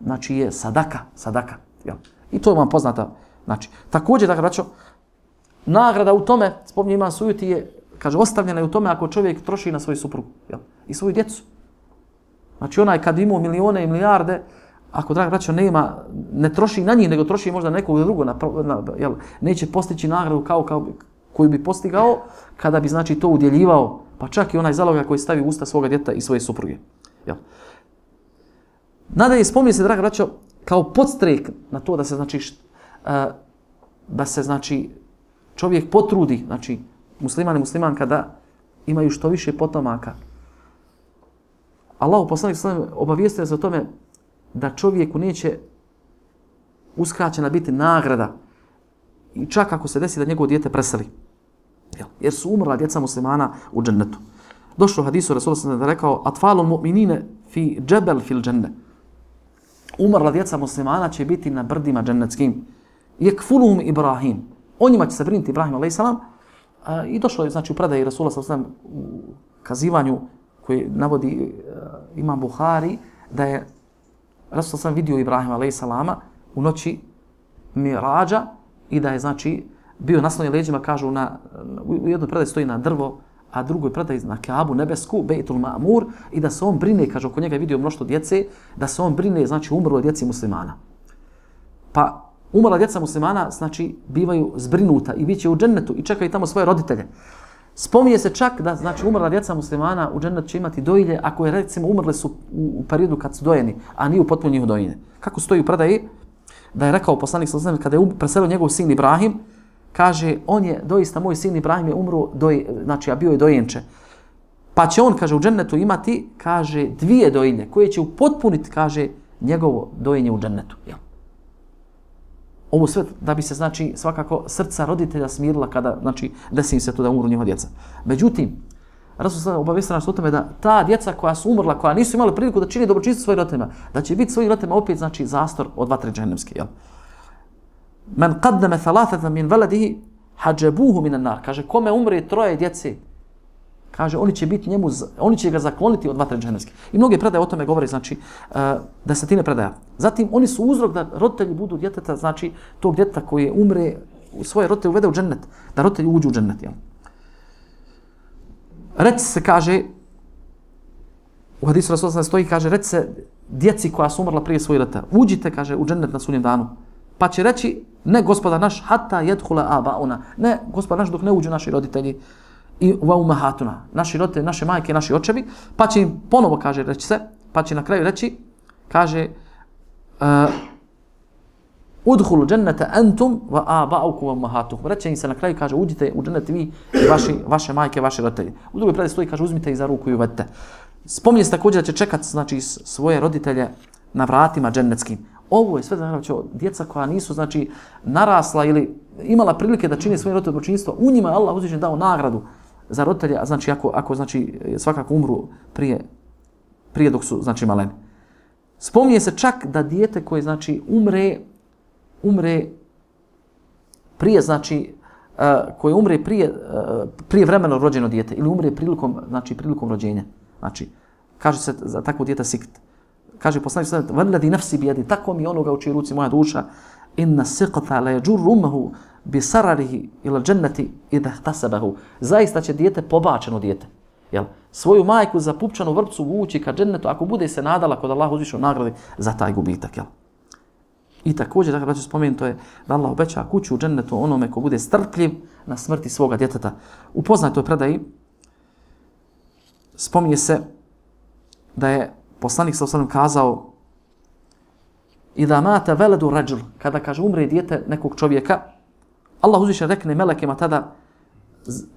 znači, je sadaka, sadaka. Jel? I to je vam poznata. Znači, također, da braćo, nagrada u tome, spominje Imam Sujuti, je, kaže, ostavljena je u tome ako čovjek troši na svoju suprugu, jel? I svoju djecu. Znači, onaj kad ima milione i milijarde, ako, draga braćo, nema, ne troši na njih, nego troši možda nekog drugog, na, na, jel? Neće postići nagradu kao, kao koju bi postigao kada bi, znači, to udjeljivao, pa čak i onaj zaloga koji stavi u usta svoga djeta i svoje supruge. Jel? Nadalje, spominje se, draga braćo, kao podstrek na to da se, znači, št, uh, da se, znači, čovjek potrudi, znači, musliman i muslimanka, da imaju što više potomaka. Allahu poslanik sallallahu alejhi ve sellem obavijestio se o tome da čovjeku neće uskraćena biti nagrada i čak ako se desi da njegovo dijete preseli. Jer su umrla djeca muslimana u džennetu. Došlo u hadisu Rasulullah sallallahu alejhi ve sellem da rekao atfalul mu'minine fi džebel fil dženne. Umrla djeca muslimana će biti na brdima džennetskim. Yakfuluhum Ibrahim. O njima će se brinuti Ibrahim alejhi selam. I došlo je, znači, u predaji Rasulullah sallallahu alejhi ve sellem u kazivanju koji navodi uh, Imam Buhari da je Rasulullah sallallahu vidio Ibrahima alejhi selama u noći Mirađa i da je, znači, bio naslonjen leđima, kažu, na, u jednoj predaji stoji na drvo, a drugoj predaji na Kaabu nebesku, Bejtul Ma'mur, i da se on brine, kaže, oko njega je vidio mnoštvo djece, da se on brine, znači, umrlo djeci muslimana. Pa umrla djeca muslimana, znači, bivaju zbrinuta i bit će u džennetu i čekaju tamo svoje roditelje. Spominje se čak da, znači, umrla djeca muslimana u džennetu će imati dojilje ako je, recimo, umrle su u, u periodu kad su dojeni, a nije u potpuno njihovo dojenje. Kako stoji u predaji, da je rekao poslanik sallallahu alejhi ve sellem kada je preselio njegov sin Ibrahim, kaže, on je, doista, moj sin Ibrahim je umro, doj, znači, a bio je dojenče. Pa će on, kaže, u džennetu imati, kaže, dvije dojilje koje će upotpuniti, kaže, njegovo dojenje u džennetu. Jel? Ovo sve da bi se, znači, svakako srca roditelja smirila kada, znači, desi im se to da umru njihova djeca. Međutim, Rasul sada obavijestio nas o tome da ta djeca koja su umrla, koja nisu imali priliku da čini dobročinstvo svojim roditeljima, da će biti svojim roditeljima opet, znači, zastor od vatre džehennemske. Jel? Men qaddama thalathatan min waladihi hajabuhu min an-nar. Kaže, kome umre troje djece, kaže, oni će biti njemu, oni će ga zakloniti od vatre džehennemske. I mnoge predaje o tome govore, znači, uh, desetine predaja. Zatim, oni su uzrok da roditelji budu djeteta, znači, tog djeteta koji umre, svoje roditelje uvede u džennet, da roditelji uđu u džennet. Jel? Reci se, kaže, u hadisu Rasulullah stoji, kaže, reci se djeci koja su umrla prije svojih roditelja, uđite, kaže, u džennet na sudnjem danu. Pa će reći, ne, gospodar naš, hatta yadkhula abauna, ne, gospodar naš, dok ne uđu naši roditelji i wa ummahatuna, naši roditelji, naše majke, naši očevi, pa će im ponovo, kaže, reći se, pa će na kraju reći, kaže, uh, udhulu džennete antum wa aba'ukum wa ummahatukum. Reće im se na kraju, kaže, uđite u džennet vi i vaši, vaše majke, vaši roditelji. U drugoj predaji stoji, kaže, uzmite ih za ruku i uvedite. Spominje se također da će čekati, znači, svoje roditelje na vratima džennetskim. Ovo je sve, znači, djeca koja nisu, znači, narasla ili imala prilike da čine svoje roditelje dobročinstvo, u njima je Allah uzvišen dao nagradu za roditelje, znači, ako, ako znači, svakako umru prije, prije dok su, znači, maleni. Spominje se čak da dijete koje, znači, umre, umre prije, znači, uh, koje umre prije, uh, prije vremeno rođeno dijete ili umre prilikom, znači, prilikom rođenja. Znači, kaže se za takvo dijete sikt. Kaže poslanik sallallahu alejhi ve sellem: "Nafsi bi yadi", tako mi onoga u čijoj ruci moja duša, inna siqata la yajurru ummuhu bi sararihi ila džennati idha ihtasabahu. Zaista će dijete, pobačeno dijete, jel, svoju majku za pupčanu vrpcu vući ka džennetu ako bude se nadala kod Allaha uzvišenog nagrade za taj gubitak, jel. I također, dakle, braćo, spomenuto je da Allah obeća kuću u džennetu onome ko bude strpljiv na smrti svoga djeteta. U poznatoj predaji spominje se da je poslanik sallallahu alejhi ve sellem kazao: "Idha mata veladu rajul", kada, kaže, umre dijete nekog čovjeka, Allah uzvišen rekne melekima tada: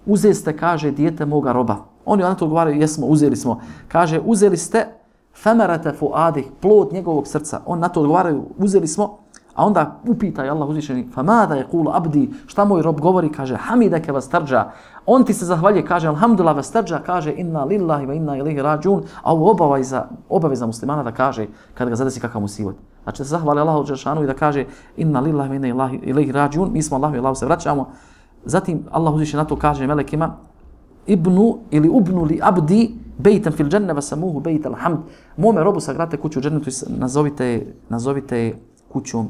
"Uzeli ste", kaže, "dijete moga roba." Oni na to odgovaraju: "Jesmo, uzeli smo." Kaže: "Uzeli ste famarata fuadih", plod njegovog srca. On na to odgovaraju: "Uzeli smo." A onda upita je Allah uzvišeni: "Famada yaqulu abdi", šta moj rob govori? Kaže: "Hamidaka wastarja", on ti se zahvaljuje, kaže: "Alhamdulillah wastarja", kaže: "Inna lillahi wa inna ilaihi rađun", a ovo obaveza, obaveza muslimana da kaže kad ga zadesi kakav musibet. Znači da se zahvali Allahu dželešanu i da kaže: "Inna lillahi wa inna ilaihi rađun", mi smo Allahu i Allahu se vraćamo. Zatim Allah uzvišeni na to kaže melekima: "Ibnu ili ubnu li abdi bejtan fil dženne vasamuhu bejt alhamd", mome robu sagradite kuću u džennetu i nazovite, nazovite kućom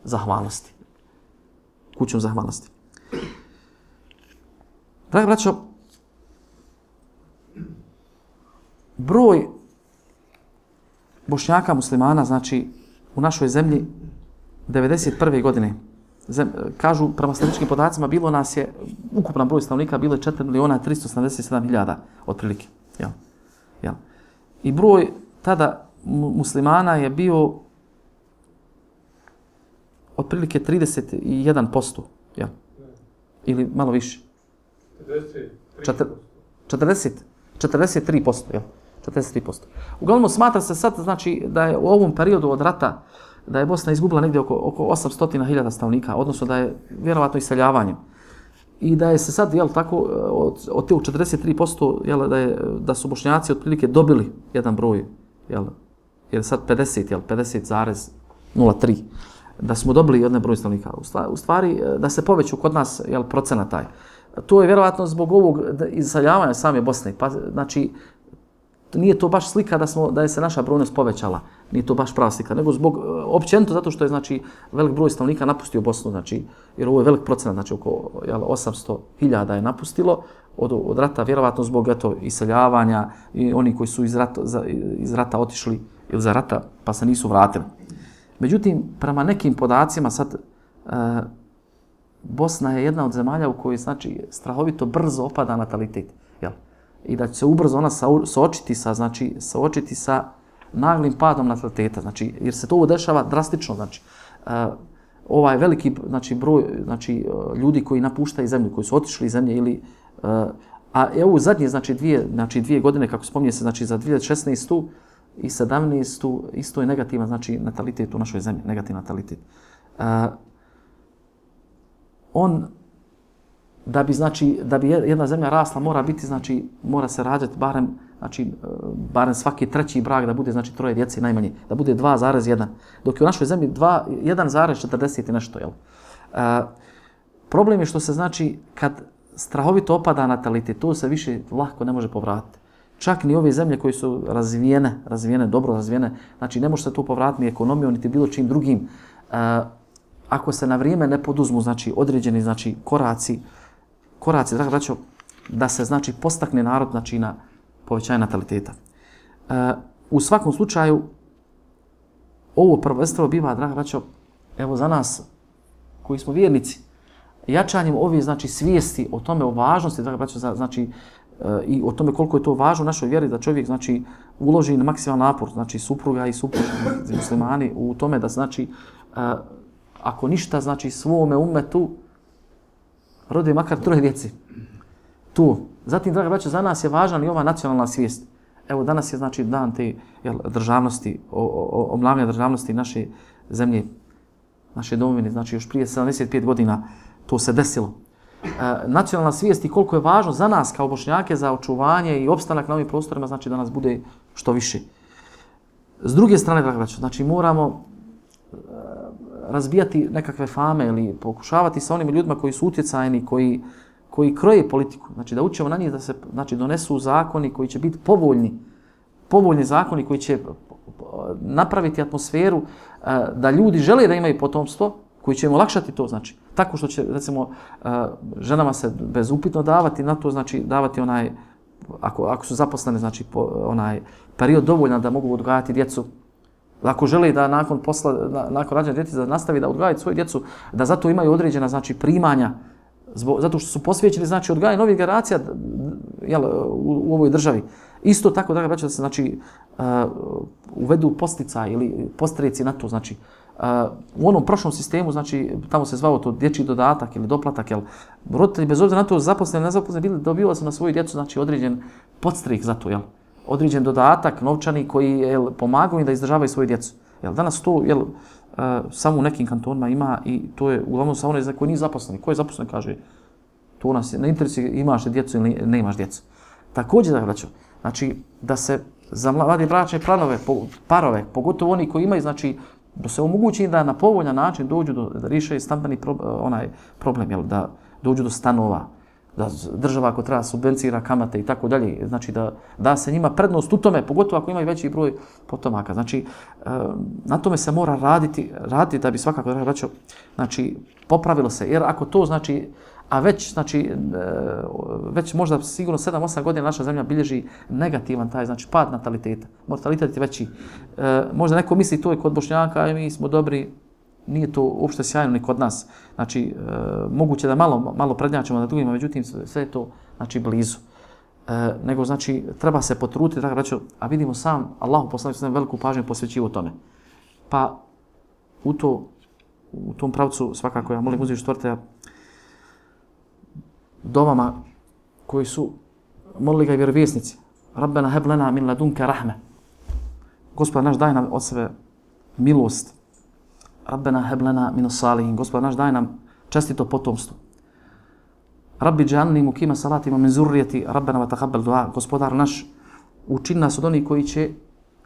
zahvalnosti. Kućom zahvalnosti. Dragi braćo, broj Bošnjaka muslimana, znači, u našoj zemlji devedeset prve godine, zem, kažu, prema statističkim podacima, bilo nas je, ukupan broj stanovnika bilo je četiri miliona tristo sedamdeset sedam hiljada otprilike. Jel? Jel? I broj tada muslimana je bio otprilike trideset jedan posto, ja. Ili malo više. četrdeset, četrdeset tri posto, ja. četrdeset tri posto. Uglavnom smatra se sad, znači, da je u ovom periodu od rata, da je Bosna izgubila negdje oko, oko osamsto hiljada stanovnika, odnosno da je vjerovatno iseljavanjem. I da je se sad, jel, tako, od, od te četrdeset tri posto, jel, da, je, da su Bošnjaci otprilike dobili jedan broj, jel, jer sad pedeset, jel, pedeset zarez nula tri. Da smo dobili jedan broj stanovnika. U stvari, da se poveću kod nas, jel, procena taj. To je vjerovatno zbog ovog iseljavanja same Bosne. Pa, znači, nije to baš slika da, smo, da je se naša brojnost povećala. Nije to baš prava slika. Nego zbog, općenito, zato što je, znači, velik broj stanovnika napustio Bosnu. Znači, jer ovo je velik procenat, znači, oko, jel, osamsto hiljada je napustilo od, od rata, vjerovatno zbog, eto, iseljavanja i oni koji su iz rata, za, iz rata otišli ili za rata, pa se nisu vratili. Međutim, prema nekim podacima, sad e, Bosna je jedna od zemalja u kojoj znači strahovito brzo opada natalitet, jel? I da će se ubrzo ona suočiti sa znači suočiti sa naglim padom nataliteta, znači jer se to dešava drastično, znači e, ovaj veliki znači broj znači ljudi koji napuštaju zemlju, koji su otišli iz zemlje ili uh, a evo zadnje znači dvije znači dvije godine kako spominje se znači za dvije tisuće šesnaestu i sedamnaestu isto je negativan znači natalitet u našoj zemlji, negativan natalitet. Uh, on da bi znači da bi jedna zemlja rasla mora biti znači mora se rađati barem znači barem svaki treći brak da bude znači troje djece najmanje, da bude dva zarez jedan. Dok je u našoj zemlji jedan zarez četrdeset i nešto, jel? E, problem je što se znači kad strahovito opada natalitet, to se više lako ne može povratiti. Čak ni ove zemlje koje su razvijene, razvijene, dobro razvijene, znači ne može se to povratiti ni ekonomijom, niti bilo čim drugim. E, ako se na vrijeme ne poduzmu znači određeni znači koraci, koraci, draga braćo, da se znači postakne narod znači na povećanje nataliteta. E, u svakom slučaju, ovo prvenstveno biva, draga braćo, evo za nas koji smo vjernici, jačanjem ove znači svijesti o tome, o važnosti, draga braćo, znači e, i o tome koliko je to važno u našoj vjeri da čovjek znači uloži na maksimalan napor, znači supruga i supruga muslimani u tome da znači e, ako ništa znači svome umetu rode makar troje djeci. Tu. Zatim, draga braćo, za nas je važna i ova nacionalna svijest. Evo, danas je znači dan te jel, državnosti, obnavljanja državnosti naše zemlje, naše domovine, znači još prije sedamdeset pet godina to se desilo. E, nacionalna svijest i koliko je važno za nas kao Bošnjake za očuvanje i opstanak na ovim prostorima, znači da nas bude što više. S druge strane, draga braćo, znači moramo e, razbijati nekakve fame ili pokušavati sa onim ljudima koji su utjecajni, koji koji kroje politiku, znači da učimo na njih da se znači donesu zakoni koji će biti povoljni, povoljni zakoni koji će napraviti atmosferu da ljudi žele da imaju potomstvo, koji će im olakšati to, znači tako što će recimo ženama se bezupitno davati na to, znači davati onaj ako ako su zaposlene znači po, onaj period dovoljan da mogu odgajati djecu. Ako žele da nakon posla na, nakon rađanja djeteta da nastavi da odgajaju svoju djecu, da zato imaju određena znači primanja. Zbog, zato što su posvećeni znači odgajanju novih generacija jel, u, u ovoj državi. Isto tako, draga braćo, da se znači uh, uvedu posticaj ili postreci na to, znači uh, u onom prošlom sistemu, znači tamo se zvao to dječji dodatak ili doplatak, jel, roditelji bez obzira na to zaposleni, nezaposleni bili dobivali su na svoju djecu znači određen podstrek za to, jel, određen dodatak novčani koji jel pomagaju im da izdržavaju svoju djecu. Jel, danas to jel Uh, samo u nekim kantonima ima i to je uglavnom sa onaj za koji nije zaposlen. Ko je zaposlen kaže to nas je na interesu imaš djecu ili ne imaš djecu. Također da braćo, znači da se za mlade bračne planove, parove, pogotovo oni koji imaju znači da se omogući da na povoljan način dođu do da riješe stambeni pro, onaj problem, jel, da dođu do stanova, da država ako treba subvencira kamate i tako dalje, znači da da se njima prednost u tome, pogotovo ako imaju veći broj potomaka. Znači na tome se mora raditi, raditi da bi svakako da braćo, znači popravilo se. Jer ako to znači a već znači već možda sigurno sedam osam godina naša zemlja bilježi negativan taj znači pad nataliteta. Mortalitet je veći. Možda neko misli to je kod Bošnjaka, mi smo dobri. Nije to uopšte sjajno ni kod nas. Znači, e, moguće da malo, malo prednjačimo na drugima, međutim, sve je to znači, blizu. E, nego, znači, treba se potruditi, tako reći, a vidimo sam, Allahu poslanik sam veliku pažnju posvećivo tome. Pa, u, to, u tom pravcu, svakako, ja molim uzviš stvrte dovama koji su molili ga i vjerovjesnici. Rabbena heb lena min ladunke rahme. Gospod naš, daj nam od sebe milost. Rabbena heb lena min salihin. Gospod naš, daj nam čestito potomstvo. Rabbi džalni mukima salatima min zurrijeti. Rabbena wa taqabbal dua. Gospodar naš, učini nas od onih koji će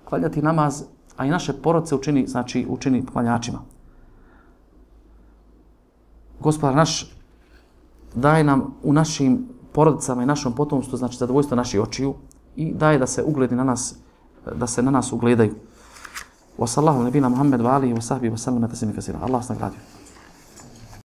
klanjati namaz, a i naše porodce učini, znači učini klanjačima. Gospodar naš, daj nam u našim porodicama i našom potomstvu, znači zadovoljstvo naših očiju i daj da se ugledi na nas, da se na nas ugledaju. Wa sallahu nabina Muhammed wa alihi wa sahbihi wa sallam taslima kasira. Allah nas nagradio.